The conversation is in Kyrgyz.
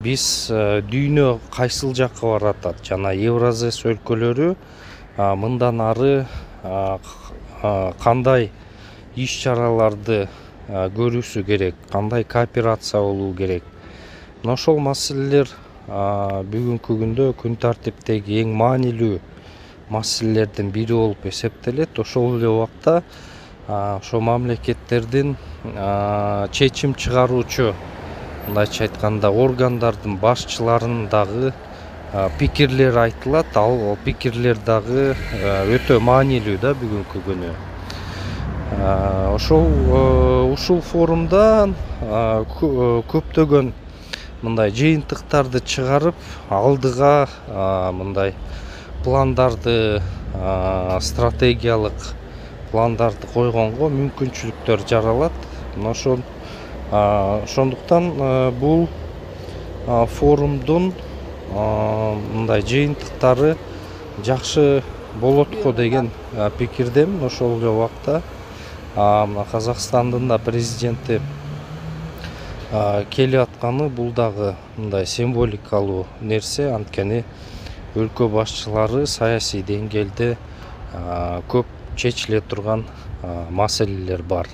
биз дүйнө кайсыл жакка баратат жана Евразес өлкөлөрү мындан ары кандай иш чараларды көрүүсү керек, кандай кооперация болуу керек. Мына ошол маселелер бүгүнкү күндө күн тартиптеги эң маанилүү маселелердин бири болуп эсептелет. Ошол эле убакта ошо мамлекеттердин чечим чыгаруучу, мындайча айтканда, органдардын башчыларынын дагы пикирлери айтылат. Ал пикирлер дагы өтө маанилүү да бүгүнкү күнү. Ушул форумда көптөгөн мындай жыйынтыктарды чыгарып, алдыга мындай пландарды, стратегиялык пландарды койгонго мүмкүнчүлүктөр жаралат. Мына ошондуктан бул форумдун мындай жыйынтыктары жакшы болот го деген пикирдемин. Ошол эле убакта Казакстандын да президенти келип атканы бул дагы мындай символикалуу нерсе. Анткени өлкө башчылары саясий деңгээлде көп чечиле турган маселелер бар.